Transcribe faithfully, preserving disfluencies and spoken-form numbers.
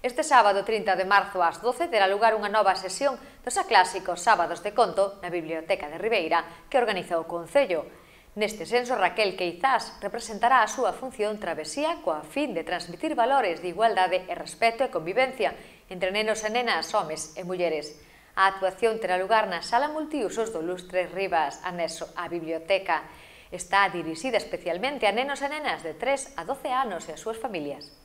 Este sábado trinta de marzo ás doce terá lugar unha nova sesión dos aclásicos Sábados de Conto na Biblioteca de Ribeira que organiza o Concello. Neste senso, Raquel Queizás representará a súa función travesía coa fin de transmitir valores de igualdade e respeto e convivencia entre nenos e nenas, homes e mulleres. A actuación terá lugar na Sala Multiusos do Lustre Rivas, anexo á biblioteca. Está dirixida especialmente a nenos e nenas de tres a doce anos e as súas familias.